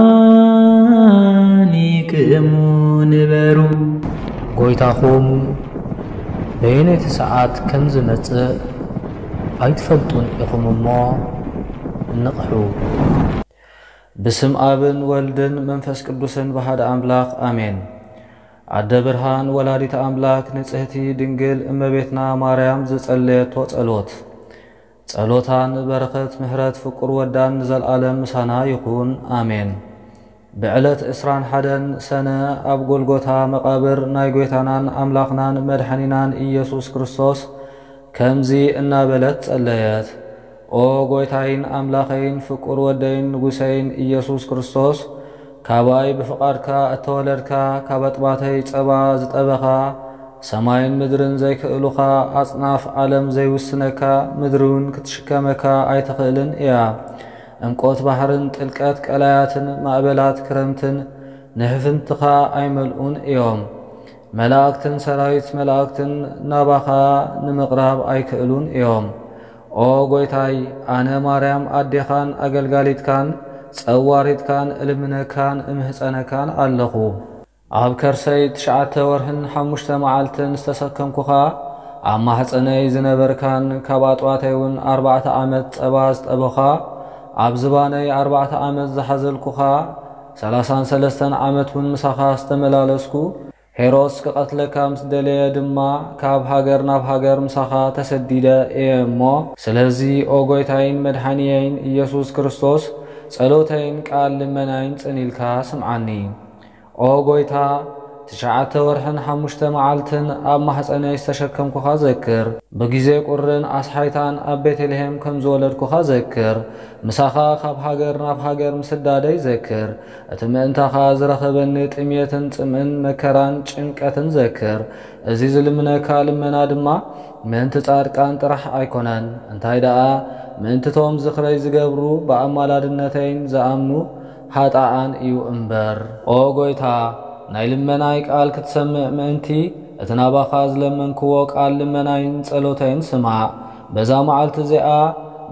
ድልዋኒ ክእሙ ንበሩ። ጎይታኹም በየነይቲ ሰዓት ከም ዝመጽእ ኣይትፈልጡን ኢኹም እሞ ንቕሑ። ብስም ኣብን ወልድን መንፈስ ቅዱስን ብሓደ ኣምላኽ ኣሜን። ኣደ ብርሃን ወላዲት ኣምላክ ንጽህቲ ድንግል እመቤትና ማርያም ዝጸለየቶ ጸሎት። ጸሎታን በረኸት ምሕረት ፍቁር ወዳን ንዘልኣለም ምሳና ይኹን ኣሜን። ብዕለት ዕስራን ሓደን ሰነ ኣብ ጎልጎታ መቓብር ናይ ጎይታናን ኣምላኽናን መድሓኒናን ኢየሱስ ክርስቶስ ከምዚ እናበለት ጸለየት። ኦ ጎይታይን ኣምላኸይን ፍቁር ወደይን ንጉሰይን ኢየሱስ ክርስቶስ፣ ካባይ ብፍቓድካ እተወለድካ፣ ካብ ኣጥባተይ ጸባ ዝጠበኻ፣ ሰማይን ምድርን ዘይክእሉኻ፣ ኣጽናፍ ዓለም ዘይውስነካ፣ ምድሪ እውን ክትሽከመካ ኣይትኽእልን እያ። ዕምቆት ባሕርን ጥልቀት ቀላያትን ማእበላት ክረምትን ንሕፍንትኻ ኣይመልኡን እዮም። መላእክትን ሰራዊት መላእክትን ናባኻ ንምቕራብ ኣይክእሉን እዮም። ኦ ጎይታይ፣ ኣነ ማርያም ኣዴኻን ኣገልጋሊትካን ጸዋሪትካን እልምነካን እምህጸነካን ኣለኹ። ኣብ ከርሰይ ትሽዓተ ወርሕን ሓሙሽተ መዓልትን ዝተሰከምኩኻ፣ ኣብ ማሕጸነይ ዝነበርካን ካብ ኣጥባተይ እውን ኣርባዕተ ዓመት ጸባ ዝጠበኻ፣ ኣብ ዝባነይ ኣርባዕተ ዓመት ዝሓዘልኩኻ፣ ሰላሳን ሰለስተን ዓመት እውን ምሳኻ ዝተመላለስኩ፣ ሄሮድስ ክቐትለካ ምስ ደለየ ድማ፣ ካብ ሃገር ናብ ሃገር ምሳኻ ተሰዲደ እየ እሞ፣ ስለዚ ኦ ጎይታይን መድሓኒየይን ኢየሱስ ክርስቶስ፣ ጸሎተይን ቃል ልመናይን ጽን ኢልካ ስምዓኒ። ኦ ጎይታ፣ ትሽዓተ ወርሕን ሓሙሽተ መዓልትን ኣብ ማሕጸነይ ዝተሸከምኩኻ ዘክር። ብግዜ ቁርን ኣስሓይታን ኣብ ቤተልሔም ከም ዝወለድኩኻ ዘክር። ምሳኻ ካብ ሃገር ናብ ሃገር ምስዳደይ ዘክር። እቲ ምእንታኻ ዝረኸበኒ ጥምየትን ጽምእን መከራን ጭንቀትን ዘክር። እዚ ዝልምነካ ልመና ድማ ምእንቲ ጻድቃን ጥራሕ ኣይኮነን፣ እንታይ ደኣ ምእንትቶም ዝኽረይ ዝገብሩ ብኣማላድነተይን ዝኣምኑ ሃጣኣን እዩ እምበር። ኦ ጎይታ፣ ናይ ልመናይ ቃል ክትሰምዕ ምእንቲ፣ እቲ ናባኻ ዝለመንክዎ ቃል ልመናይን ጸሎተይን ስማዕ። በዛ መዓልቲ እዚኣ፣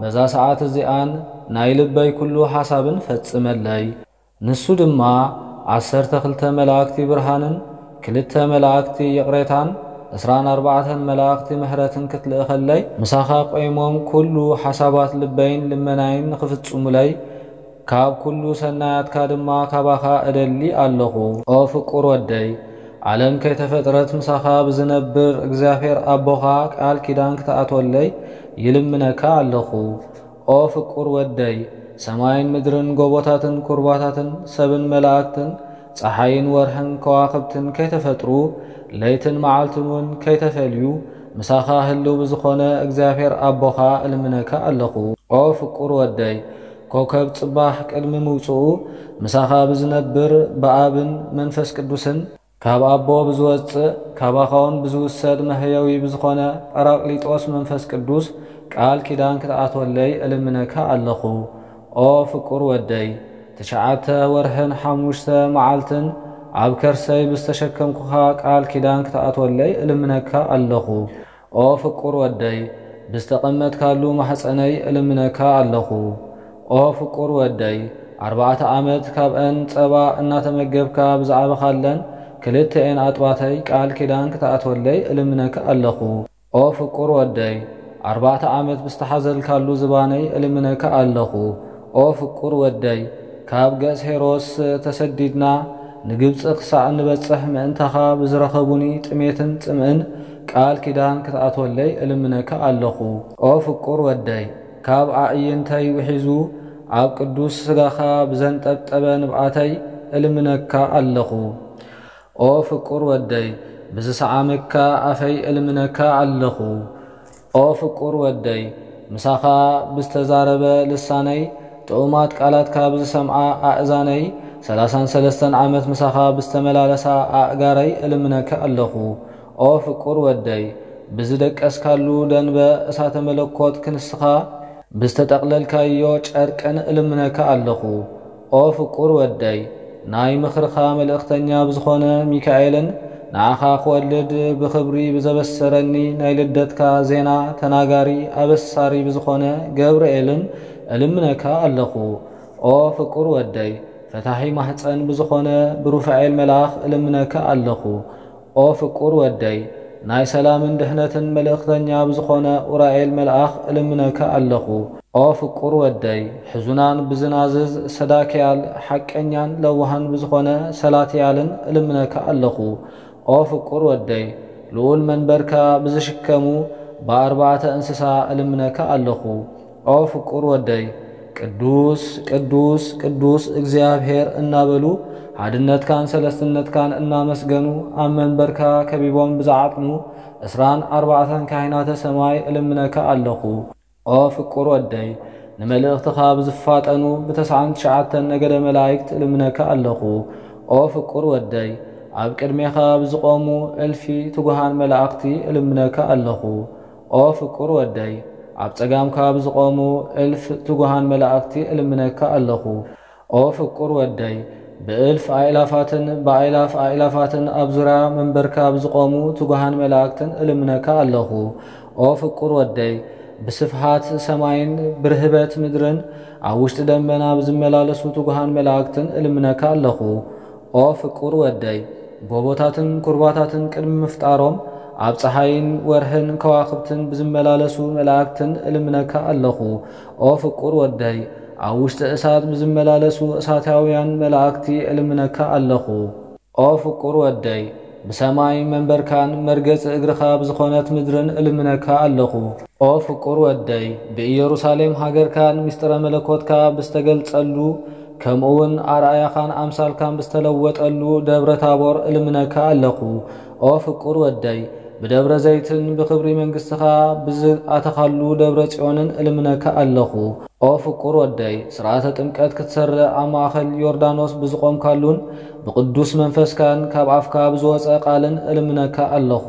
በዛ ሰዓት እዚኣን ናይ ልበይ ኩሉ ሓሳብን ፈጽመለይ። ንሱ ድማ ዓሰርተ ክልተ መላእክቲ ብርሃንን ክልተ መላእክቲ ይቕሬታን ዕስራን ኣርባዕተን መላእክቲ ምሕረትን ክትልእኸለይ፣ ምሳኻ ቆይሞም ኩሉ ሓሳባት ልበይን ልመናይን ንኽፍጽሙለይ፣ ካብ ኩሉ ሰናያትካ ድማ ካባኻ እደሊ ኣለኹ። ኦ ፍቁር ወደይ፣ ዓለም ከይተፈጥረት ምሳኻ ብዝነብር እግዚኣብሔር ኣቦኻ ቃል ኪዳን ክትኣትወለይ ይልምነካ ኣለኹ። ኦ ፍቁር ወደይ፣ ሰማይን ምድርን ጎቦታትን ኩርባታትን ሰብን መላእክትን ጸሓይን ወርሕን ከዋኽብትን ከይተፈጥሩ፣ ለይትን መዓልትን እውን ከይተፈልዩ፣ ምሳኻ ህልው ብዝኾነ እግዚኣብሔር ኣቦኻ እልምነካ ኣለኹ። ኦ ፍቁር ወደይ፣ ኮከብ ጽባሕ ቅድሚ ምውጽኡ ምሳኻ ብዝነብር ብኣብን መንፈስ ቅዱስን ካብ ኣቦ ብዝወጽእ፣ ካባኻውን ብዝውሰድ መህየዊ ብዝኾነ ጳራቅሊጦስ መንፈስ ቅዱስ ቃል ኪዳን ክትኣትወለይ እልምነካ ኣለኹ። ኦ ፍቁር ወደይ፣ ትሽዓተ ወርሕን ሓሙሽተ መዓልትን ኣብ ከርሰይ ብዝተሸከምኩኻ ቃል ኪዳን ክትኣትወለይ እልምነካ ኣለኹ። ኦ ፍቁር ወደይ፣ ብዝተቐመጥካሉ ማሕጸነይ እልምነካ ኣለኹ። ኦ ፍቁር ወደይ፣ ኣርባዕተ ዓመት ካብአን ጸባ እናተመገብካ ብዝዓበኻለን ክልተኤን ኣጥባተይ ቃል ኪዳን ክትኣትወለይ እልምነካ ኣለኹ። ኦ ፍቁር ወደይ፣ ኣርባዕተ ዓመት ብዝተሓዘልካሉ ዝባነይ እልምነካ ኣለኹ። ኦ ፍቁር ወደይ፣ ካብ ገጽ ሄሮድስ ተሰዲድና ንግብጺ ክሳዕ እንበጽሕ ምእንታኻ ብዝረኸቡኒ ጥሜትን ጽምእን ቃል ኪዳን ክትኣትወለይ እልምነካ ኣለኹ። ኦ ፍቁር ወደይ፣ ካብ ኣዕይንተይ ውሒዙ ኣብ ቅዱስ ስጋኻ ብዘንጠብጠበ ንብዓተይ እልምነካ ኣለኹ። ኦ ፍቁር ወደይ፣ ብዝሰዓመካ ኣፈይ እልምነካ ኣለኹ። ኦ ፍቁር ወደይ፣ ምሳኻ ብዝተዛረበ ልሳነይ፣ ጥዑማት ቃላትካ ብዝሰምዓ ኣእዛነይ፣ ሰላሳን ሰለስተን ዓመት ምሳኻ ብዝተመላለሳ ኣእጋረይ እልምነካ ኣለኹ። ኦ ፍቁር ወደይ፣ ብዝደቀስካሉ ደንበ እሳተ መለኮት ክንስኻ ብዝተጠቕለልካዮ ጨርቅን እልምነካ ኣለኹ። ኦ ፍቁር ወደይ፣ ናይ ምኽርኻ መልእኽተኛ ብዝኾነ ሚካኤልን ንዓኻ ክወልድ ብኽብሪ ብዘበሰረኒ ናይ ልደትካ ዜና ተናጋሪ ኣበሳሪ ብዝኾነ ገብርኤልን እልምነካ ኣለኹ። ኦ ፍቁር ወደይ፣ ፈታሒ ማህፀን ብዝኾነ ብሩፋኤል መልኣኽ እልምነካ ኣለኹ። ኦ ፍቁር ወደይ፣ ናይ ሰላምን ድሕነትን መልእኽተኛ ብዝኾነ ኡራኤል መልኣኽ እልምነካ ኣለኹ። ኦ ፍቁር ወደይ፣ ሕዙናን ብዝናዝዝ ሰዳክያል፣ ሓቀኛን ለዋሃን ብዝኾነ ሰላትያልን እልምነካ ኣለኹ። ኦ ፍቁር ወደይ፣ ልዑል መንበርካ ብዝሽከሙ ብኣርባዕተ እንስሳ እልምነካ ኣለኹ። ኦ ፍቁር ወደይ፣ ቅዱስ፣ ቅዱስ፣ ቅዱስ እግዚኣብሔር እናበሉ፣ ሓድነትካን ሰለስትነትካን እናመስገኑ፣ ኣብ መንበርካ ከቢቦም ብዝዓጥኑ ዕስራን ኣርባዕተን ካህናተ ሰማይ እልምነካ ኣለኹ። ኦ ፍቁር ወደይ፣ ንመልእኽትኻ ብዝፋጠኑ ብተስዓን ትሽዓተን ነገደ መላእክት እልምነካ ኣለኹ። ኦ ፍቁር ወደይ፣ ኣብ ቅድሜኻ ብዝቖሙ እልፊ ትጉሃን መላእኽቲ እልምነካ ኣለኹ። ኦ ፍቁር ወደይ፣ ኣብ ጸጋምካ ብዝቖሙ እልፍ ትጉሃን መላእኽቲ እልምነካ ኣለኹ። ኦ ፍቁር ወደይ፣ ብእልፍ ኣእላፋትን ብኣእላፍ ኣእላፋትን ኣብ ዙርያ መንበርካ ብዝቖሙ ትጉሃን መላእክትን እልምነካ ኣለኹ። ኦ ፍቁር ወደይ፣ ብስፍሓት ሰማይን ብርህበት ምድርን ኣብ ውሽጢ ደመና ብዝመላለሱ ትጉሃን መላእክትን እልምነካ ኣለኹ። ኦ ፍቁር ወደይ፣ ጎቦታትን ኩርባታትን ቅድሚ ምፍጣሮም ኣብ ጸሓይን ወርሕን ከዋኽብትን ብዝመላለሱ መላእክትን እልምነካ ኣለኹ። ኦ ፍቁር ወደይ፣ ኣብ ውሽጢ እሳት ብዝመላለሱ እሳታውያን መላእክቲ እልምነካ ኣለኹ። ኦ ፍቁር ወደይ፣ ብሰማይ መንበርካን መርገጺ እግርኻ ብዝኾነት ምድርን እልምነካ ኣለኹ። ኦ ፍቁር ወደይ፣ ብኢየሩሳሌም ሃገርካን ምስጢረ መለኮትካ ብዝተገልጸሉ፣ ከምኡውን ኣርኣያኻን ኣምሳልካን ብዝተለወጠሉ ደብረ ታቦር እልምነካ ኣለኹ። ኦ ፍቁር ወደይ፣ ብደብረ ዘይትን ብኽብሪ መንግስትኻ ብዝኣተኻሉ ደብረ ጽዮንን እልምነካ ኣለኹ። ኦ ፍቁር ወደይ፣ ስርዓተ ጥምቀት ክትሰርዕ ኣብ ማእከል ዮርዳኖስ ብዝቖምካሉን ብቅዱስ መንፈስካን ካብ ኣፍካ ብዝወጸ ቃልን እልምነካ ኣለኹ።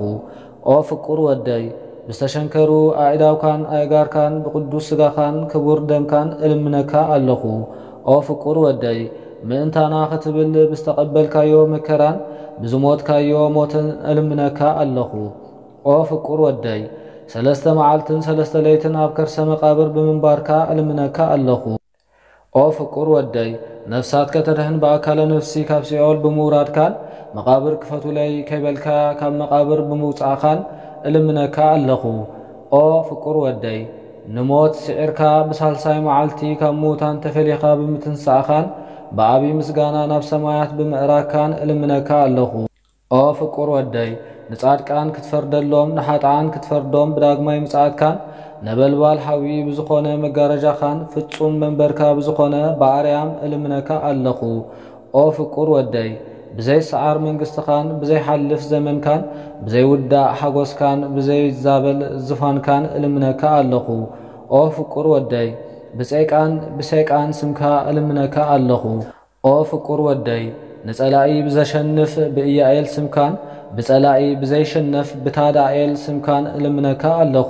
ኦ ፍቁር ወደይ፣ ብዝተሸንከሩ ኣእዳውካን ኣእጋርካን ብቅዱስ ስጋኻን ክቡር ደምካን እልምነካ ኣለኹ። ኦ ፍቁር ወደይ፣ ምእንታና ክትብል ብዝተቐበልካዮ መከራን ብዝሞትካዮ ሞትን እልምነካ ኣለኹ። ኦ ፍቁር ወደይ፣ ሰለስተ መዓልትን ሰለስተ ለይትን ኣብ ከርሰ መቃብር ብምንባርካ እልምነካ ኣለኹ። ኦ ፍቁር ወደይ፣ ነፍሳት ከተድሕን ብኣካለ ነፍሲ ካብ ሲኦል ብምውራድካን መቃብር ክፈቱለይ ከይበልካ ካብ መቃብር ብምውጻእኻን እልምነካ ኣለኹ። ኦ ፍቁር ወደይ፣ ንሞት ስዒርካ ብሳልሳይ መዓልቲ ካብ ምዉታን ተፈሊኻ ብምትንሳእኻን ብዓቢ ምስጋና ናብ ሰማያት ብምእራግካን እልምነካ ኣለኹ። ኦ ፍቁር ወደይ፣ ንጻድቃን ክትፈርደሎም ንሓጥኣን ክትፈርዶም ብዳግማይ ምጽኣትካን ነበልባል ሓዊ ብዝኾነ መጋረጃኻን ፍጹም መንበርካ ብዝኾነ ብኣርያም እልምነካ ኣለኹ። ኦ ፍቁር ወደይ፣ ብዘይሰዓር መንግስትኻን ብዘይሓልፍ ዘመንካን ብዘይውዳእ ሓጎስካን ብዘይዛበል ዝፋንካን እልምነካ ኣለኹ። ኦ ፍቁር ወደይ፣ ብጸይቃን ብሰይቃን ስምካ እልምነካ ኣለኹ። ኦ ፍቁር ወደይ፣ ንጸላኢ ብዘሸንፍ ብኢያኤል ስምካን ብጸላኢ ብዘይሽነፍ ብታዳኤል ስምካን እልምነካ ኣለኹ።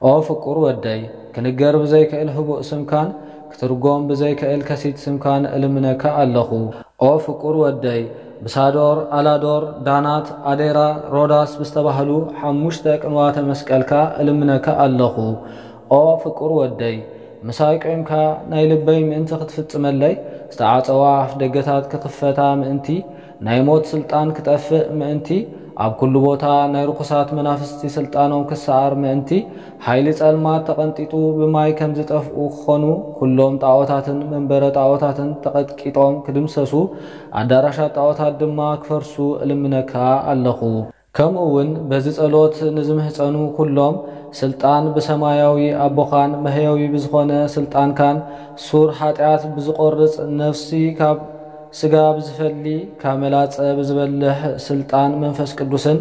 ኦ ፍቁር ወደይ፣ ክንገር ብዘይክእል ህቡእ ስምካን ክትርጎም ብዘይክእል ከሲት ስምካን እልምነካ ኣለኹ። ኦ ፍቁር ወደይ፣ ብሳዶር፣ ኣላዶር፣ ዳናት፣ ኣዴራ፣ ሮዳስ ብዝተባህሉ ሓሙሽተ ቅንዋተ መስቀልካ እልምነካ ኣለኹ። ኦ ፍቁር ወደይ፣ ምሳይ ቆይምካ ናይ ልበይ ምእንቲ ክትፍጽመለይ፣ ዝተዓጸዋ ኣፍ ደገታት ክኽፈታ ምእንቲ፣ ናይ ሞት ስልጣን ክጠፍእ ምእንቲ፣ ኣብ ኩሉ ቦታ ናይ ርኹሳት መናፍስቲ ስልጣኖም ክሰዓር ምእንቲ፣ ሓይሊ ጸልማት ተቐንጢጡ ብማይ ከም ዝጠፍኡ ክኾኑ፣ ኩሎም ጣዖታትን መንበረ ጣዖታትን ተቐጥቂጦም ክድምሰሱ፣ ኣዳራሻት ጣዖታት ድማ ክፈርሱ እልምነካ ኣለኹ። ከምኡ እውን በዚ ጸሎት ንዝምህጸኑ ኩሎም ስልጣን ብሰማያዊ ኣቦኻን መህየዊ ብዝኾነ ስልጣንካን ሱር ሓጢኣት ብዝቖርጽ ነፍሲ ካብ ስጋ ብዝፈሊ ካብ መላጸ ብዝበልሕ ስልጣን መንፈስ ቅዱስን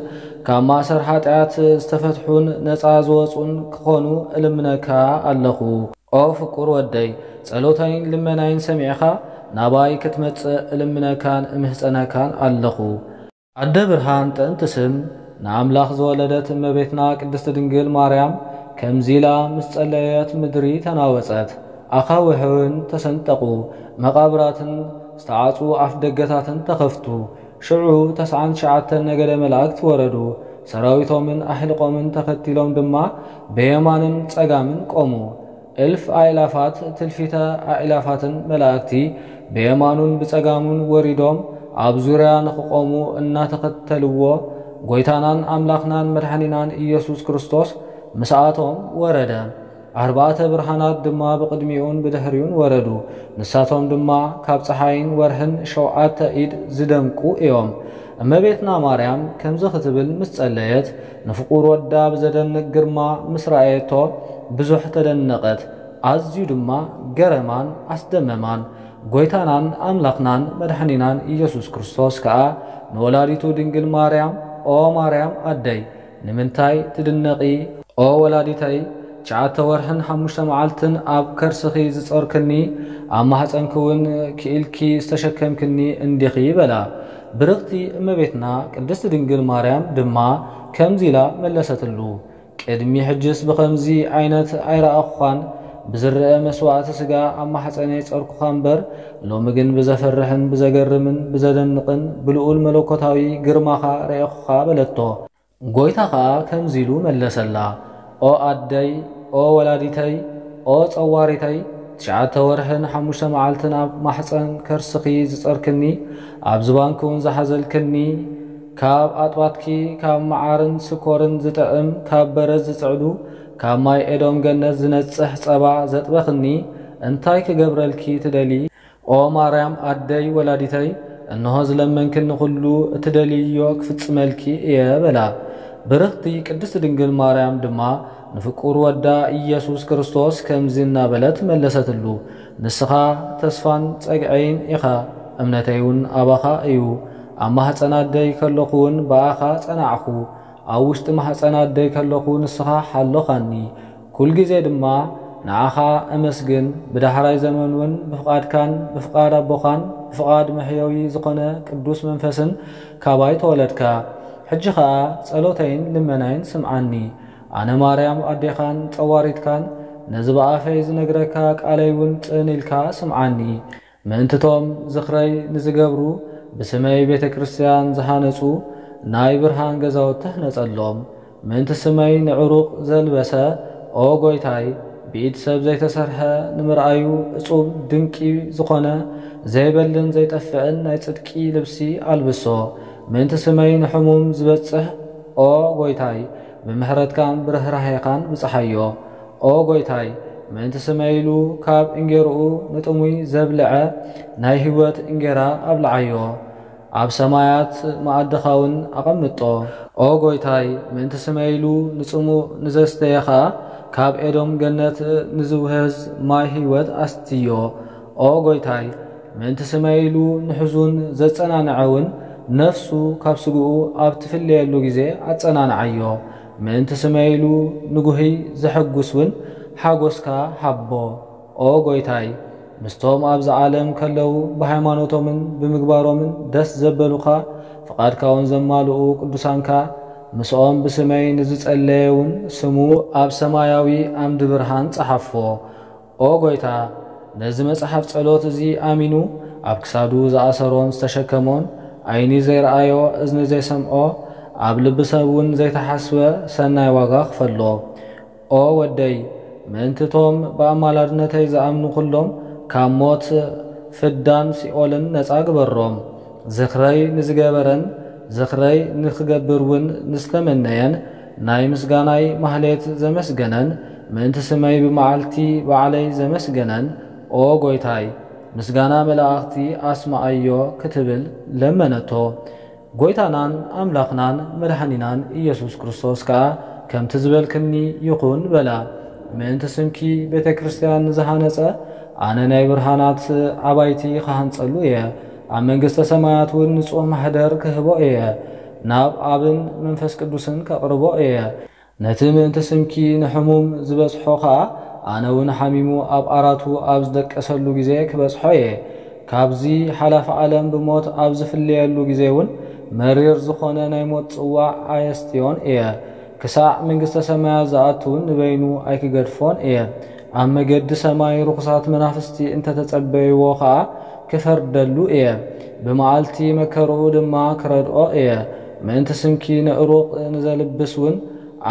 ካብ ማእሰር ሓጢኣት ዝተፈትሑን ነጻ ዝወጹን ክኾኑ እልምነካ ኣለኹ። ኦ ፍቁር ወደይ፣ ጸሎታይን ልመናይን ሰሚዕኻ ናባይ ክትመጽእ እልምነካን እምህጸነካን ኣለኹ። ኣደ ብርሃን ጥዕምቲ ስም ንኣምላኽ ዝወለደት እመቤትና ቅድስቲ ድንግል ማርያም ከምዚ ኢላ ምስ ጸለየት ምድሪ ተናወጸት፣ ኣኻውሕ እውን ተሰንጠቑ፣ መቓብራትን ዝተዓጹ ኣፍ ደገታትን ተኸፍቱ። ሽዑ ተስዓን ትሽዓተን ነገደ መላእክት ወረዱ፣ ሰራዊቶምን ኣሕልቖምን ተኸቲሎም ድማ ብየማንን ጸጋምን ቆሙ። እልፍ ኣእላፋት ትልፊተ ኣእላፋትን መላእክቲ ብየማኑን ብጸጋሙን ወሪዶም ኣብ ዙርያ ንኽቖሙ እናተኸተልዎ፣ ጎይታናን ኣምላኽናን መድሓኒናን ኢየሱስ ክርስቶስ ምስኣቶም ወረደ። ኣርባዕተ ብርሃናት ድማ ብቕድሚኡን ብድሕሪኡን ወረዱ። ንሳቶም ድማ ካብ ጸሓይን ወርሕን ሸውዓተ ኢድ ዝደምቁ እዮም። እመቤትና ማርያም ከምዚ ክትብል ምስ ጸለየት፣ ንፍቑር ወዳ ብዘደንቅ ግርማ ምስ ረኣየቶ ብዙሕ ተደነቐት። ኣዝዩ ድማ ገረማን ኣስደመማን። ጎይታናን ኣምላኽናን መድሓኒናን ኢየሱስ ክርስቶስ ከኣ ንወላዲቱ ድንግል ማርያም፣ "ኦ ማርያም ኣደይ፣ ንምንታይ ትድነቒ? ኦ ወላዲተይ፣ ትሽዓተ ወርሕን ሓሙሽተ መዓልትን ኣብ ከርስኺ ዝጾርክኒ፣ ኣብ ማህጸንኪ እውን ክኢልኪ ዝተሸከምክኒ እንዲኺ" በላ። ብርኽቲ እመቤትና ቅድስት ድንግል ማርያም ድማ ከምዚ ኢላ መለሰትሉ፣ "ቅድሚ ሕጅስ ብኸምዚ ዓይነት ኣይረኣኹኻን፣ ብዝረአ መስዋእቲ ስጋ ኣብ ማሕፀነይ ጸርኩኻ እምበር፣ ሎሚ ግን ብዘፈርሕን ብዘገርምን ብዘደንቕን ብልዑል መለኮታዊ ግርማኻ ረኤኹኻ" በለቶ። ጎይታ ኸኣ ከምዚ ኢሉ መለሰላ፣ "ኦ ኣደይ፣ ኦ ወላዲተይ፣ ኦ ጸዋሪተይ፣ ትሽዓተ ወርሕን ሓሙሽተ መዓልትን ኣብ ማሕፀን ከርስኺ ዝጸርክኒ፣ ኣብ ዝባንኪ እውን ዝሓዘልክኒ፣ ካብ ኣጥባትኪ ካብ መዓርን ስኮርን ዝጥዕም፣ ካብ በረድ ዝጽዕዱ፣ ካብ ማይ ኤዶም ገነት ዝነጽሕ ጸባ ዘጥበኽኒ፣ እንታይ ክገብረልኪ ትደሊ? ኦ ማርያም ኣደይ ወላዲተይ፣ እንሆ ዝለመንክኒ ኩሉ እትደልይዮ ክፍጽመልኪ እየ" በላ። ብርኽቲ ቅድስት ድንግል ማርያም ድማ ንፍቁር ወዳ ኢየሱስ ክርስቶስ ከምዚ እናበለት መለሰትሉ፣ "ንስኻ ተስፋን ጸግዐይን ኢኻ፣ እምነተይ እውን ኣባኻ እዩ። ኣብ ማህፀን ኣደይ ከለኹ እውን ብኣኻ ጸናዕኹ፣ ኣብ ውሽጢ ማህፀን ኣደይ ከለኹ ንስኻ ሓሎኻኒ። ኩልግዜ ድማ ንዓኻ እመስግን። ብዳሕራይ ዘመን እውን ብፍቓድካን ብፍቓድ ኣቦኻን ብፍቓድ መሕየዊ ዝኾነ ቅዱስ መንፈስን ካባይ ተወለድካ። ሕጂ ኸኣ ጸሎተይን ልመናይን ስምዓኒ። ኣነ ማርያም ኣዴኻን ጸዋሪትካን፣ ነዚ ብኣፈይ ዝነግረካ ቃለይ እውን ጽን ኢልካ ስምዓኒ። ምእንትቶም ዝኽረይ ንዝገብሩ፣ ብስመይ ቤተ ክርስቲያን ዝሃነጹ፣ ናይ ብርሃን ገዛውቲ ህነጸሎም። ምእንቲ ስመይ ንዕሩቕ ዘልበሰ፣ ኦ ጎይታይ፣ ብኢድ ሰብ ዘይተሰርሐ፣ ንምርኣዩ እጹብ ድንቂ ዝኾነ፣ ዘይበልን ዘይጠፍእን ናይ ጽድቂ ልብሲ ኣልብሶ። ምእንቲ ስመይ ንሕሙም ዝበጽሕ፣ ኦ ጎይታይ፣ ብምሕረትካን ብርህራሄኻን ብጽሓዮ። ኦ ጎይታይ፣ ምእንቲ ስመይ ኢሉ ካብ እንጌርኡ ንጥሙይ ዘብልዐ፣ ናይ ህይወት እንጌራ ኣብልዓዮ። ኣብ ሰማያት መኣድኻ እውን ኣቐምጦ። ኦ ጎይታይ፣ ምእንቲ ስመይ ኢሉ ንጽሙእ ንዘስተየ ኸኣ፣ ካብ ኤዶም ገነት ንዝውህዝ ማይ ህይወት ኣስትዮ። ኦ ጎይታይ፣ ምእንቲ ስመይ ኢሉ ንሕዙን ዘጸናንዐ እውን፣ ነፍሱ ካብ ስግኡ ኣብ ትፍለየሉ ግዜ ኣጸናንዓዮ። ምእንቲ ስመይ ኢሉ ንጉህይ ዘሐጉስ እውን ሓጎስካ ሃቦ። ኦ ጎይታይ፣ ምስቶም ኣብዚ ዓለም ከለዉ ብሃይማኖቶምን ብምግባሮምን ደስ ዘበሉኻ፣ ፍቓድካ እውን ዘማልኡ ቅዱሳንካ፣ ምስኦም ብስመይ ንዝጸለየ እውን ስሙ ኣብ ሰማያዊ ዓምዲ ብርሃን ጸሓፎ። ኦ ጎይታ፣ ነዚ መጽሓፍ ጸሎት እዚ ኣሚኑ ኣብ ክሳዱ ዝኣሰሮን ዝተሸከሞን፣ ዓይኒ ዘይረኣዮ፣ እዝኒ ዘይሰምዖ፣ ኣብ ልቢ ሰብ እውን ዘይተሓስበ ሰናይ ዋጋ ክፈሎ። ኦ ወደይ፣ ምእንቲ እቶም ብኣማላድነተይ ዝኣምኑ ኩሎም ካብ ሞት፣ ፍዳን ሲኦልን ነጻ ግበሮም። ዝኽረይ ንዝገበረን ዝኽረይ ንኽገብር እውን ንዝተመነየን፣ ናይ ምስጋናይ ማህሌት ዘመስገነን፣ ምእንቲ ስመይ ብመዓልቲ ባዕለይ ዘመስገነን፣ ኦ ጎይታይ፣ ምስጋና መላእኽቲ ኣስምዓዮ ክትብል ለመነቶ። ጎይታናን ኣምላኽናን መድሓኒናን ኢየሱስ ክርስቶስ ከኣ፣ "ከምቲ ዝበልክኒ ይኹን" በላ። ምእንቲ ስምኪ ቤተ ክርስቲያን ንዝሃነጸ፣ ኣነ ናይ ብርሃናት ኣባይቲ ክሃንጸሉ እየ፣ ኣብ መንግስተ ሰማያት እውን ንጹህ ማሕደር ክህቦ እየ፣ ናብ ኣብን መንፈስ ቅዱስን ከቕርቦ እየ። ነቲ ምእንቲ ስምኪ ንሕሙም ዝበጽሖ ኸኣ፣ ኣነ እውን ሓሚሙ ኣብ ኣራቱ ኣብ ዝደቀሰሉ ግዜ ክበጽሖ እየ። ካብዚ ሓላፊ ዓለም ብሞት ኣብ ዝፍለየሉ ግዜ እውን፣ መሪር ዝኾነ ናይ ሞት ጽዋዕ ኣየስትዮን እየ። ክሳዕ መንግስተ ሰማያት ዝኣቱ እውን ንበይኑ ኣይክገድፎን እየ። ኣብ መገዲ ሰማይ ርኹሳት መናፍስቲ እንተተጸበይዎ ኸኣ፣ ክፈርደሉ እየ። ብመዓልቲ መከርኡ ድማ ክረድኦ እየ። ምእንቲ ስምኪ ንዕሩቕ ንዘልብስ እውን፣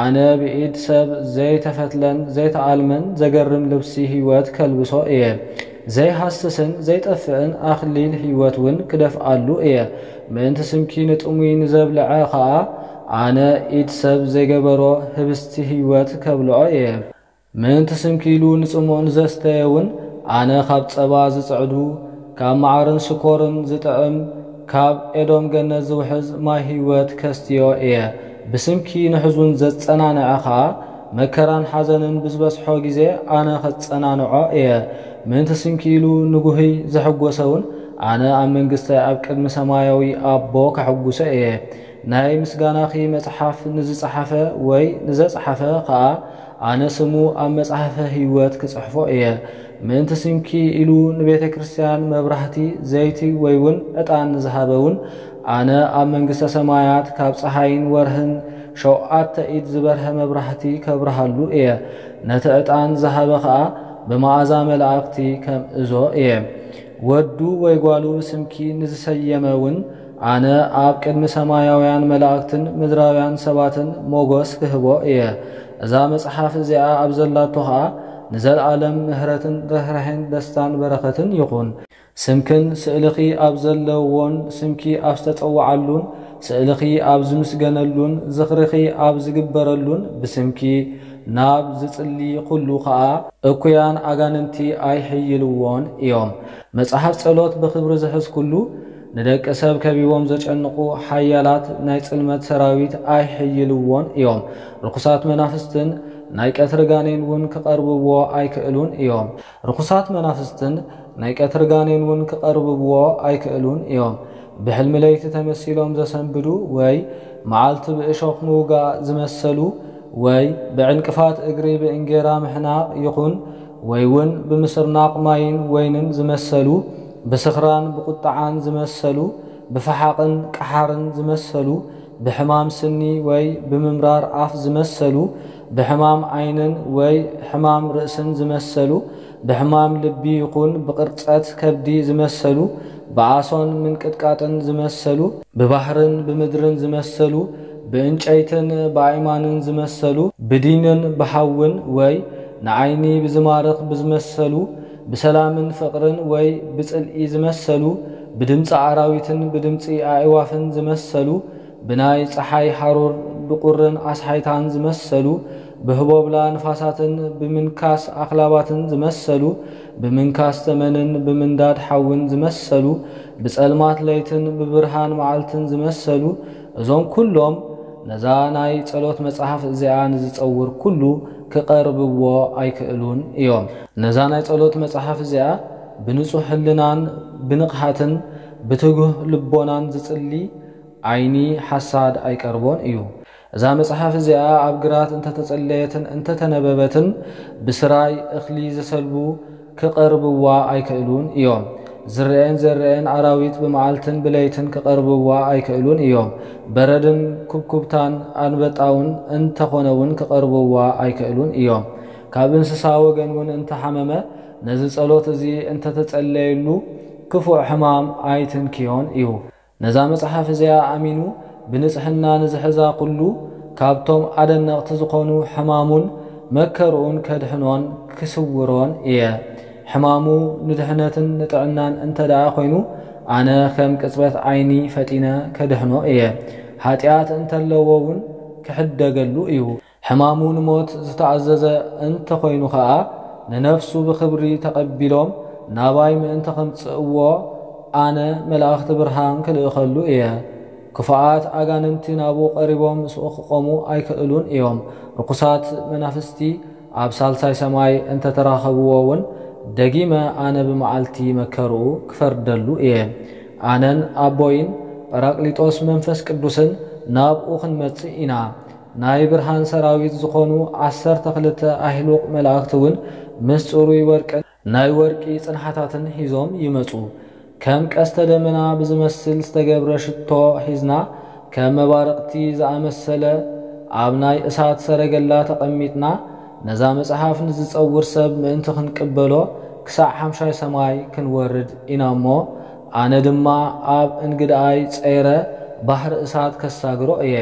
ኣነ ብኢድ ሰብ ዘይተፈትለን ዘይተኣልመን ዘገርም ልብሲ ህይወት ከልብሶ እየ። ዘይሃስስን ዘይጠፍእን ኣኽሊል ህይወት እውን ክደፍኣሉ እየ። ምእንቲ ስምኪ ንጥሙይ ንዘብልዐ ኸኣ፣ ኣነ ኢድ ሰብ ዘይገበሮ ህብስቲ ህይወት ከብልዖ እየ። ምእንቲ ስምኪ ኢሉ ንጽሙእ ንዘስተየ እውን፣ ኣነ ካብ ጸባ ዝጽዕዱ፣ ካብ መዓርን ስኮርን ዝጥዕም፣ ካብ ኤዶም ገነት ዝውሕዝ ማይ ህይወት ከስትዮ እየ። ብስምኪ ንሕዙን ዘጸናንዐ ኸኣ፣ መከራን ሓዘንን ብዝበጽሖ ግዜ ኣነ ኸጸናንዖ እየ። ምእንቲ ስምኪ ኢሉ ንጉህይ ዘሐጎሰ እውን፣ ኣነ ኣብ መንግስተይ ኣብ ቅድሚ ሰማያዊ ኣቦ ከሐጉሶ እየ። ናይ ምስጋናኺ መጽሓፍ ንዝጸሓፈ ወይ ንዘጽሓፈ ኸኣ፣ ኣነ ስሙ ኣብ መጽሓፈ ህይወት ክጽሕፎ እየ። ምእንቲ ስምኪ ኢሉ ንቤተ ክርስቲያን መብራህቲ፣ ዘይቲ ወይ እውን ዕጣን ንዝሃበ እውን፣ ኣነ ኣብ መንግስተ ሰማያት ካብ ጸሓይን ወርህን ሸውዓተ ኢድ ዝበርሀ መብራህቲ ከብርሃሉ እየ። ነቲ ዕጣን ዝሃበ ኸኣ ብመኣዛ መላእክቲ ከምእዞ እየ። ወዱ ወይ ጓሉ ስምኪ ንዝሰየመ እውን፣ ኣነ ኣብ ቅድሚ ሰማያውያን መላእክትን ምድራውያን ሰባትን ሞጎስ ክህቦ እየ። እዛ መጽሓፍ እዚኣ ኣብ ዘላቶ ኸኣ፣ ንዘለኣለም ምሕረትን ርህራሄን ደስታን በረኸትን ይኹን። ስምክን ስእልኺ ኣብ ዘለዎን ስምኪ ኣብ ዝተጸውዓሉን ስእልኺ ኣብ ዝምስገነሉን ዝኽርኺ ኣብ ዝግበረሉን ብስምኪ ናብ ዝጽሊ ኩሉ ኸኣ እኩያን ኣጋንንቲ ኣይሕይልዎን እዮም። መጽሓፍ ጸሎት ብኽብሪ ዝሕዝ ኩሉ ንደቂ ሰብ ከቢቦም ዘጨንቑ ሓያላት ናይ ጽልመት ሰራዊት ኣይሕይልዎን እዮም። ርኩሳት መናፍስትን ናይ ቀትሪ ጋኔን እውን ክቐርብዎ ኣይክእሉን እዮም። ርኩሳት መናፍስትን ናይ ቀትሪ ጋኔን እውን ክቐርብዎ ኣይክእሉን እዮም። ብሕልሚ ለይቲ ተመሲሎም ዘሰንብዱ ወይ መዓልቲ ብእሾኽ ምውጋእ ዝመሰሉ ወይ ብዕንቅፋት እግሪ ብእንጌራ ምሕናቕ ይኹን ወይ እውን ብምስርናቕ ማይን ወይንን ዝመሰሉ፣ ብስኽራን ብቁጥዓን ዝመሰሉ፣ ብፈሓቕን ቀሓርን ዝመሰሉ፣ ብሕማም ስኒ ወይ ብምምራር ኣፍ ዝመሰሉ፣ ብሕማም ዓይንን ወይ ሕማም ርእስን ዝመሰሉ፣ ብሕማም ልቢ ይኹን ብቕርጸት ከብዲ ዝመሰሉ፣ ብኣሶን ምንቅጥቃጥን ዝመሰሉ፣ ብባሕርን ብምድርን ዝመሰሉ፣ ብእንጨይትን ብኣይማንን ዝመሰሉ፣ ብዲንን ብሓውን ወይ ንዓይኒ ብዝማርኽ ብዝመሰሉ፣ ብሰላምን ፍቕርን ወይ ብጽልኢ ዝመሰሉ፣ ብድምጺ ኣራዊትን ብድምጺ ኣእዋፍን ዝመሰሉ፣ ብናይ ጸሓይ ሃሩር ብቁርን ኣስሓይታን ዝመሰሉ፣ ብህቦብላ ንፋሳትን ብምንካስ ኣኽላባትን ዝመሰሉ፣ ብምንካስ ተመንን ብምንዳድ ሓውን ዝመሰሉ፣ ብጸልማት ለይትን ብብርሃን መዓልትን ዝመሰሉ፣ እዞም ኩሎም ነዛ ናይ ጸሎት መጽሓፍ እዚኣ ንዝጸውር ኩሉ ክቐርብዎ ኣይክእሉን እዮም። ነዛ ናይ ጸሎት መጽሓፍ እዚኣ ብንጹሕ ህልናን ብንቕሓትን ብትጉህ ልቦናን ዝጽሊ ዓይኒ ሓሳድ ኣይቀርቦን እዩ። እዛ መጽሓፍ እዚኣ ኣብ ግራት እንተተጸለየትን እንተተነበበትን ብስራይ እኽሊ ዝሰልቡ ክቐርብዋ ኣይክእሉን እዮም። ዝረኤን ዘረኤን ኣራዊት ብመዓልትን ብለይትን ክቐርብዋ ኣይክእሉን እዮም። በረድን ኩብኩብታን ኣንበጣውን እንተኾነ እውን ክቐርብዋ ኣይክእሉን እዮም። ካብ እንስሳ ወገን እውን እንተሓመመ ነዚ ጸሎት እዚ እንተተጸለየሉ ክፉእ ሕማም ኣይትንክዮን እዩ። ነዛ መጽሓፍ እዚኣ ኣሚኑ ብንጽሕና ንዝሕዛ ኩሉ ካብቶም ኣደነቕቲ ዝኾኑ ሕማሙን መከርኡን ከድሕኖን ክስውሮን እየ። ሕማሙ ንድሕነትን ንጥዕናን እንተ ደኣ ኮይኑ ኣነ ከም ቅጽበት ዓይኒ ፈጢነ ከድሕኖ እየ። ሓጢኣት እንተለዎ እውን ክሕደገሉ እዩ። ሕማሙ ንሞት ዝተኣዘዘ እንተኾይኑ ኸኣ ንነፍሱ ብኽብሪ ተቐቢሎም ናባይ ምእንቲ ከምጽእዎ ኣነ መላእኽቲ ብርሃን ክልእኸሉ እየ። ክፉኣት ኣጋንንቲ ናብኡ ቀሪቦም ምስኡ ክቖሙ ኣይክእሉን እዮም። ርኩሳት መናፍስቲ ኣብ ሳልሳይ ሰማይ እንተተራኸብዎ እውን ደጊመ ኣነ ብመዓልቲ መከርኡ ክፈርደሉ እየ። ኣነን ኣቦይን ጳራቅሊጦስ መንፈስ ቅዱስን ናብኡ ክንመጽእ ኢና። ናይ ብርሃን ሰራዊት ዝኾኑ ዓሰርተ ክልተ ኣህሉቕ መላእኽቲ እውን ምስ ጽሩይ ወርቅን ናይ ወርቂ ጽንሓታትን ሒዞም ይመጹ። ከም ቀስተ ደመና ብዝመስል ዝተገብረ ሽቶ ሒዝና፣ ከም መባርቕቲ ዝኣመሰለ ኣብ ናይ እሳት ሰረገላ ተቐሚጥና፣ ነዛ መጽሓፍ ንዝጸውር ሰብ ምእንቲ ክንቅበሎ ክሳዕ ሓምሻይ ሰማይ ክንወርድ ኢና እሞ፣ ኣነ ድማ ኣብ እንግድኣይ ጸይረ ባሕሪ እሳት ከሳግሮ እየ።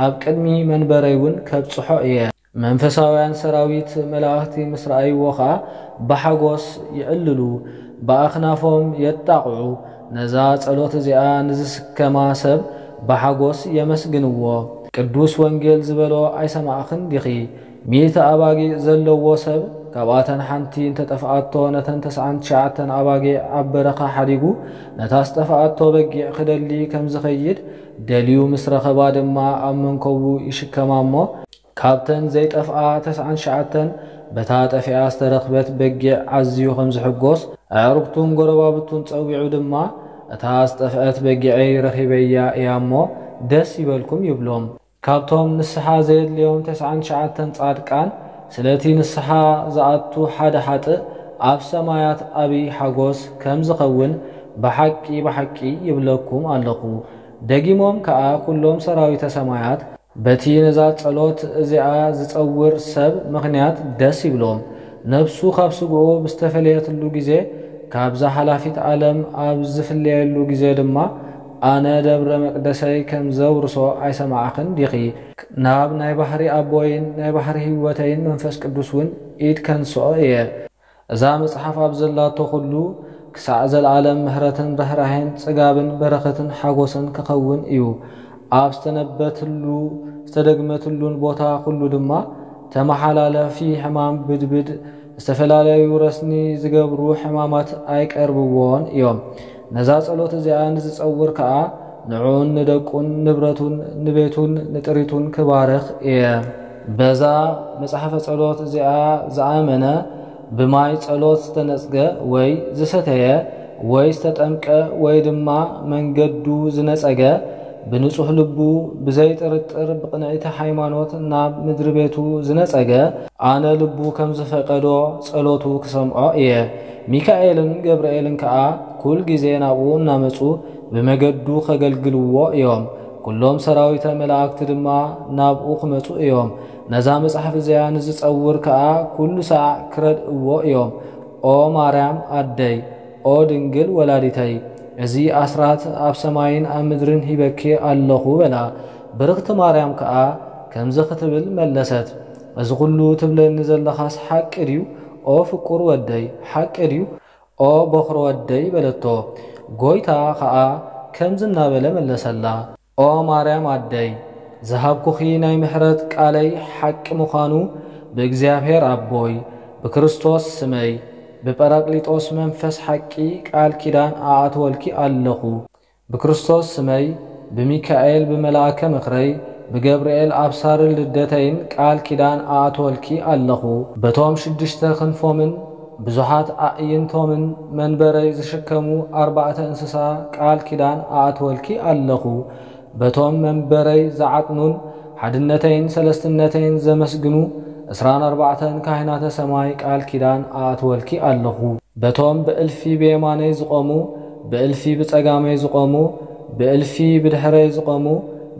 ኣብ ቅድሚ መንበረይ እውን ከብጽሖ እየ። መንፈሳውያን ሰራዊት መላእኽቲ ምስ ረኣይዎ ኸኣ ብሓጎስ ይዕልሉ፣ ብኣኽናፎም የጣቕዑ። ነዛ ጸሎት እዚኣ ንዝስከማ ሰብ ብሓጎስ የመስግንዎ። ቅዱስ ወንጌል ዝበሎ ኣይሰማዕኽን ዲኺ? ሚእቲ ኣባጊዕ ዘለዎ ሰብ ካብኣተን ሓንቲ እንተጠፍኣቶ፣ ነተን ተስዓን ትሽዓተን ኣባጊዕ ኣብ በረኻ ሓዲጉ፣ ነታ ዝጠፍኣቶ በጊዕ ክደሊ ከም ዝኸይድ፣ ደልዩ ምስ ረኸባ ድማ ኣብ መንኮቡ ይሽከማ እሞ፣ ካብተን ዘይጠፍኣ ተስዓን ትሽዓተን በታ ጠፊኣ ዝተረኽበት በጊዕ ኣዝዩ ከም ዝሕጎስ፣ ኣዕሩኽቱን ጎረባብቱን ጸዊዑ ድማ፣ "እታ ዝጠፍአት በጊዐይ ረኺበያ እያ እሞ ደስ ይበልኩም" ይብሎም። ካብቶም ንስሓ ዘየድልዮም ተስዓን ትሽዓተን ጻድቃን፣ ስለቲ ንስሓ ዝኣቱ ሓደ ሓጥእ ኣብ ሰማያት ዓብዪ ሓጎስ ከም ዝኸውን ብሓቂ ብሓቂ ይብለኩም ኣለኹ። ደጊሞም ከኣ ኩሎም ሰራዊተ ሰማያት በቲ ነዛ ጸሎት እዚኣ ዝጸውር ሰብ ምኽንያት ደስ ይብሎም። ነፍሱ ካብ ስግኡ ብዝተፈለየትሉ ግዜ፣ ካብዛ ሓላፊት ዓለም ኣብ ዝፍለየሉ ግዜ ድማ፣ ኣነ ደብረ መቅደሰይ ከም ዘውርሶ ኣይሰማዕኽን ዲኺ? ናብ ናይ ባሕሪ ኣቦይን ናይ ባሕሪ ህይወተይን መንፈስ ቅዱስ እውን ኢድ ከንስኦ እየ። እዛ መጽሓፍ ኣብ ዘላቶ ኩሉ ክሳዕ ዘለዓለም ምሕረትን ርህራሄን ጽጋብን በረኸትን ሓጎስን ክኸውን እዩ። ኣብ ዝተነበትሉ ዝተደግመትሉን ቦታ ኩሉ ድማ ተመሓላለፊ ሕማም ብድብድ፣ ዝተፈላለዩ ረስኒ ዝገብሩ ሕማማት ኣይቀርብዎን እዮም። ነዛ ጸሎት እዚኣ ንዝጸውር ከኣ ንዕኡን ንደቁን ንብረቱን ንቤቱን ንጥሪቱን ክባርኽ እየ። በዛ መጽሓፈ ጸሎት እዚኣ ዝኣመነ፣ ብማይ ጸሎት ዝተነጽገ ወይ ዝሰተየ ወይ ዝተጠምቀ ወይ ድማ መንገዱ ዝነጸገ፣ ብንጹሕ ልቡ ብዘይጥርጥር ብቕንዕቲ ሃይማኖት ናብ ምድሪ ቤቱ ዝነጸገ፣ ኣነ ልቡ ከም ዝፈቀዶ ጸሎቱ ክሰምዖ እየ። ሚካኤልን ገብርኤልን ከኣ ኩል ግዜ ናብኡ እናመጹ ብመገዱ ከገልግልዎ እዮም። ኩሎም ሰራዊተ መላእክቲ ድማ ናብኡ ክመጹ እዮም። ነዛ መጽሓፍ እዚኣ ንዝጸውር ከኣ ኩሉ ሳዕ ክረድእዎ እዮም። ኦ ማርያም ኣደይ፣ ኦ ድንግል ወላዲተይ፣ እዚ ኣስራት ኣብ ሰማይን ኣብ ምድርን ሂበኪ ኣለኹ በላ። ብርኽቲ ማርያም ከኣ ከምዚ ክትብል መለሰት፣ እዚ ኩሉ ትብለኒ ዘለኻስ ሓቂ ድዩ? ኦ ፍቁር ወደይ፣ ሓቂ ድዩ? ኦ በኹሪ ወደይ በለቶ። ጎይታ ኸኣ ከምዚ እናበለ መለሰላ፣ ኦ ማርያም ኣደይ፣ ዝሃብኩኺ ናይ ምሕረት ቃለይ ሓቂ ምዃኑ ብእግዚኣብሔር ኣቦይ፣ ብክርስቶስ ስመይ፣ ብጳራቅሊጦስ መንፈስ ሓቂ ቃል ኪዳን ኣኣትወልኪ ኣለኹ። ብክርስቶስ ስመይ፣ ብሚካኤል ብመልኣከ ምኽረይ፣ ብገብርኤል ኣብሳሪ ልደተይን ቃል ኪዳን ኣኣትወልኪ ኣለኹ። በቶም ሽዱሽተ ክንፎምን ብዙሓት ኣዕይንቶምን መንበረይ ዝሽከሙ ኣርባዕተ እንስሳ ቃል ኪዳን ኣኣትወልኪ ኣለኹ። በቶም መንበረይ ዝዓጥኑን ሓድነተይን ሰለስትነተይን ዘመስግኑ ዕስራን ኣርባዕተን ካህናተ ሰማይ ቃል ኪዳን ኣኣትወልኪ ኣለኹ። በቶም ብእልፊ ብየማነይ ዝቖሙ፣ ብእልፊ ብጸጋመይ ዝቖሙ፣ ብእልፊ ብድሕረይ ዝቖሙ፣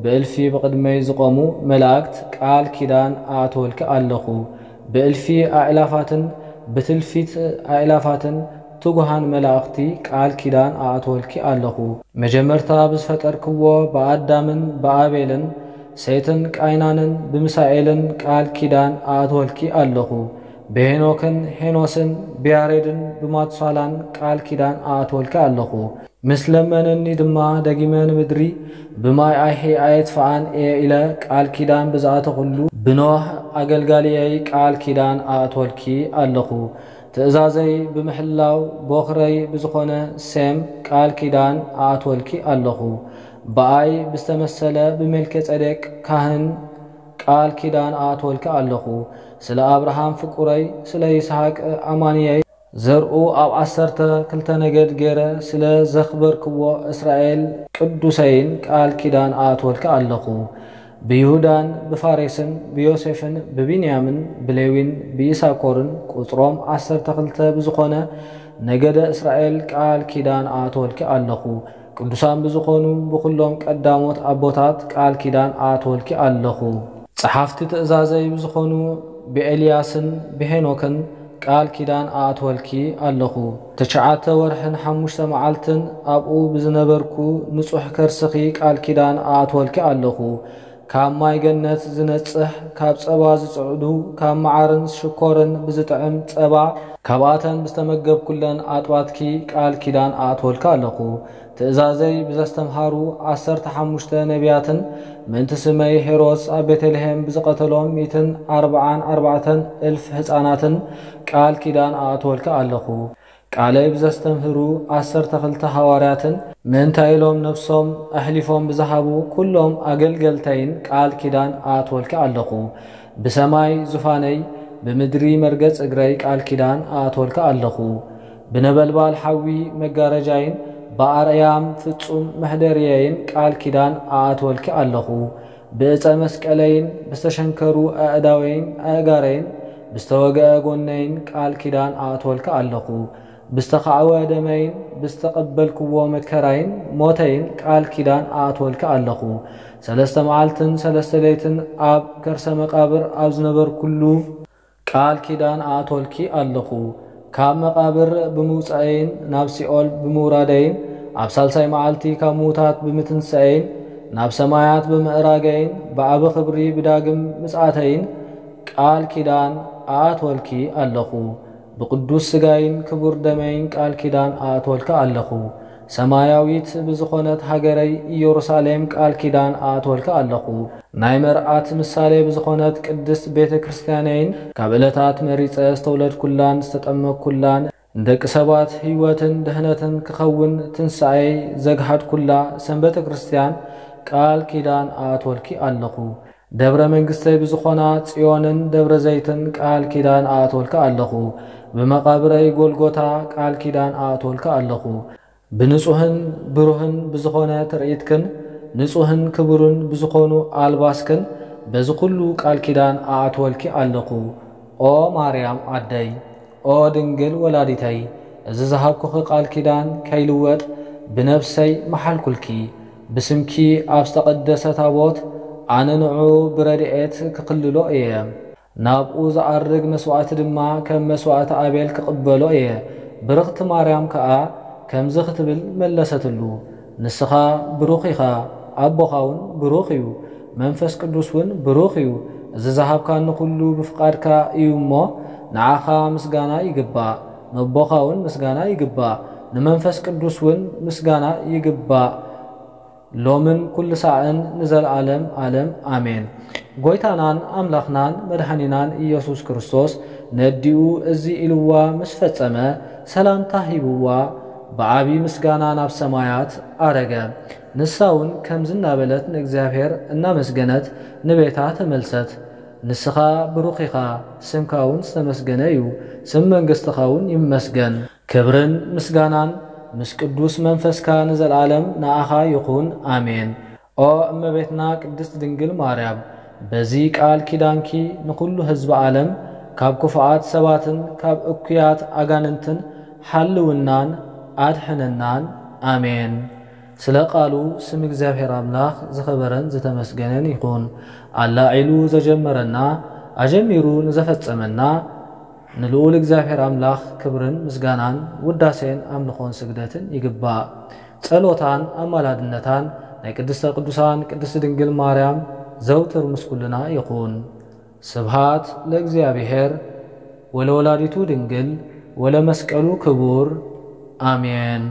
ብእልፊ ብቕድመይ ዝቖሙ መላእክት ቃል ኪዳን ኣኣትወልኪ ኣለኹ። ብእልፊ ኣእላፋትን ብትልፊት ኣእላፋትን ትጉሃን መላእኽቲ ቃል ኪዳን ኣኣትወልኪ ኣለኹ። መጀመርታ ብዝፈጠርክዎ ብኣዳምን ብኣቤልን፣ ሴትን ቃይናንን ብምሳኤልን ቃል ኪዳን ኣኣትወልኪ ኣለኹ። ብሄኖክን ሄኖስን ብያሬድን ብማቱሳላን ቃል ኪዳን ኣኣትወልኪ ኣለኹ። ምስ ለመነኒ ድማ ደጊመ ንምድሪ ብማይ ኣይሒ ኣየጥፍኣን እየ ኢለ ቃል ኪዳን ብዝኣተኹሉ፣ ብኖህ ኣገልጋሊየይ ቃል ኪዳን ኣእትወልኪ ኣለኹ። ትእዛዘይ ብምሕላው ቦኽረይ ብዝኾነ ሴም ቃል ኪዳን ኣእትወልኪ ኣለኹ። ብኣይ ብዝተመሰለ ብሜልኬ ጼዴቅ ካህን ቃል ኪዳን ኣእትወልኪ ኣለኹ። ስለ ኣብርሃም ፍቁረይ፣ ስለ ይስሐቅ ኣማንየይ፣ ዘርኡ ኣብ ዓሰርተ ክልተ ነገድ ገይረ ስለ ዘኽበርክዎ እስራኤል ቅዱሰይን ቃል ኪዳን ኣእትወልኪ ኣለኹ። ብይሁዳን ብፋሬስን ብዮሴፍን ብቢንያምን ብሌዊን ብይሳኮርን ቁጽሮም ዓሰርተ ክልተ ብዝኾነ ነገደ እስራኤል ቃል ኪዳን ኣእትወልኪ ኣለኹ። ቅዱሳን ብዝኾኑ ብኹሎም ቀዳሞት ኣቦታት ቃል ኪዳን ኣእትወልኪ ኣለኹ። ጸሓፍቲ ትእዛዘይ ብዝኾኑ ብኤልያስን ብሄኖክን ቃል ኪዳን ኣእትወልኪ ኣለኹ። ትሽዓተ ወርሕን ሓሙሽተ መዓልትን ኣብኡ ብዝነበርኩ ንጹሕ ከርስኺ ቃል ኪዳን ኣእትወልኪ ኣለኹ። ካብ ማይ ገነት ዝነጽህ፣ ካብ ጸባ ዝጽዕዱ፣ ካብ መዓርን ሽኮርን ብዝጥዕም ጸባ፣ ካብኣተን ብዝተመገብኩለን ኣጥባትኪ ቃል ኪዳን ኣእትወልኪ ኣለኹ። ትእዛዘይ ብዘስተምሃሩ ዓሰርተ ሓሙሽተ ነቢያትን፣ ምእንቲ ስመይ ሄሮድስ ኣብ ቤተልሔም ብዝቐተሎም ሚእትን ኣርብዓን ኣርባዕተን እልፍ ህፃናትን ቃል ኪዳን ኣእትወልኪ ኣለኹ። ቃለይ ብዘስተምህሩ ዓሰርተ ክልተ ሃዋርያትን፣ ምእንታ ኢሎም ነፍሶም ኣሕሊፎም ብዝሃቡ ኩሎም ኣገልገልተይን ቃል ኪዳን ኣእትወልኪ ኣለኹ። ብሰማይ ዙፋነይ፣ ብምድሪ መርገጽ እግረይ ቃል ኪዳን ኣእትወልኪ ኣለኹ። ብነበልባል ሓዊ መጋረጃይን ብኣርያም ፍጹም መሕደርየይን ቃል ኪዳን ኣእትወልኪ ኣለኹ። ብእፀ መስቀለይን ብዝተሸንከሩ ኣእዳወይን ኣእጋረይን ብዝተወግአ ጎነይን ቃል ኪዳን ኣእትወልኪ ኣለኹ። ብዝተኻዕወ ደመይን ብዝተቐበልክዎ መከራይን ሞተይን ቃል ኪዳን ኣእትወልኪ ኣለኹ። ሰለስተ መዓልትን ሰለስተ ለይትን ኣብ ከርሰ መቃብር ኣብ ዝነበርኩሉ ቃል ኪዳን ኣእትወልኪ ኣለኹ። ካብ መቃብር ብምውጻኤይን ናብ ሲኦል ብምውራደይን ኣብ ሳልሳይ መዓልቲ ካብ ምዉታት ብምትንሳኤይን ናብ ሰማያት ብምእራገይን ብዓቢ ክብሪ ብዳግም ምጽኣተይን ቃል ኪዳን ኣእትወልኪ ኣለኹ። ብቅዱስ ስጋይን ክቡር ደመይን ቃል ኪዳን ኣእትወልኪ ኣለኹ። ሰማያዊት ብዝኾነት ሃገረይ ኢየሩሳሌም ቃል ኪዳን ኣእትወልኪ ኣለኹ። ናይ መርዓት ምሳሌ ብዝኾነት ቅድስት ቤተ ክርስቲያነይን ካብ ዕለታት መሪጸ ዝተውለድኩላን ዝተጠመቅኩላን ንደቂ ሰባት ህይወትን ድህነትን ክኸውን ትንሳኤይ ዘግሃድኩላ ሰንበተ ክርስቲያን ቃል ኪዳን ኣእትወልኪ ኣለኹ። ደብረ መንግስተይ ብዝኾና ጽዮንን ደብረ ዘይትን ቃል ኪዳን ኣእትወልኪ ኣለኹ። ብመቓብረይ ጎልጎታ ቃል ኪዳን ኣእትወልኪ ኣለኹ። ብንጹህን ብሩህን ብዝኾነ ትርኢትክን ንጹህን ክቡርን ብዝኾኑ ኣልባስክን በዚ ኩሉ ቃል ኪዳን ኣእትወልኪ ኣለኹ። ኦ ማርያም ኣደይ፣ ኦ ድንግል ወላዲተይ፣ እዚ ዝሃብኩኺ ቃል ኪዳን ከይልወጥ ብነብሰይ መሓልኩልኪ። ብስምኪ ኣብ ዝተቐደሰ ታቦት ኣነ ንዑ ብረድኤት ክኽልሎ እየ። ናብኡ ዝኣርግ መስዋእቲ ድማ ከም መስዋእቲ ኣቤል ክቕበሎ እየ። ብርኽቲ ማርያም ከኣ ከምዚ ክትብል መለሰትሉ፣ ንስኻ ብሩኽ ኢኻ፣ ኣቦኻ እውን ብሩኽ እዩ፣ መንፈስ ቅዱስ እውን ብሩኽ እዩ። እዚ ዝሃብካኒ ኩሉ ብፍቓድካ እዩ እሞ፣ ንዓኻ ምስጋና ይግባእ፣ ነቦኻ እውን ምስጋና ይግባእ፣ ንመንፈስ ቅዱስ እውን ምስጋና ይግባእ። ሎምን ኩሉ ሳዕን ንዘለዓለም ዓለም ኣሜን። ጎይታናን ኣምላኽናን መድኃኒናን ኢየሱስ ክርስቶስ ነዲኡ እዚ ኢልዋ ምስ ፈጸመ ሰላምታ ሂብዋ ብዓቢ ምስጋና ናብ ሰማያት ኣረገ። ንሳ እውን ከምዚ እናበለት ንእግዚኣብሔር እናመስገነት ንቤታ ተመልሰት። ንስኻ ብሩኽ ኢኻ፣ ስምካ እውን ዝተመስገነ እዩ፣ ስም መንግሥትኻ እውን ይመስገን። ክብርን ምስጋናን ምስ ቅዱስ መንፈስካ ንዘለዓለም ንኣኻ ይኹን፣ ኣሜን። ኦ እመቤትና ቅድስት ድንግል ማርያም፣ በዚ ቃል ኪዳንኪ ንኹሉ ህዝቢ ዓለም ካብ ክፉኣት ሰባትን ካብ እኩያት ኣጋንንትን ሓልውናን ኣድሕነናን፣ ኣሜን። ስለ ቃሉ ስም እግዚኣብሔር ኣምላኽ ዝኸበረን ዝተመስገነን ይኹን። ኣላዒሉ ዘጀመረና ኣጀሚሩ ንዘፈጸመና ንልኡል እግዚኣብሔር ኣምላኽ ክብርን ምስጋናን ውዳሴን ኣምልኾን ስግደትን ይግባእ። ጸሎታን ኣማላድነታን ናይ ቅድስተ ቅዱሳን ቅድስት ድንግል ማርያም ዘውትር ምስ ኩልና ይኹን። ስብሃት ለእግዚኣብሔር ወለወላዲቱ ድንግል ወለመስቀሉ ክቡር፣ ኣሜን።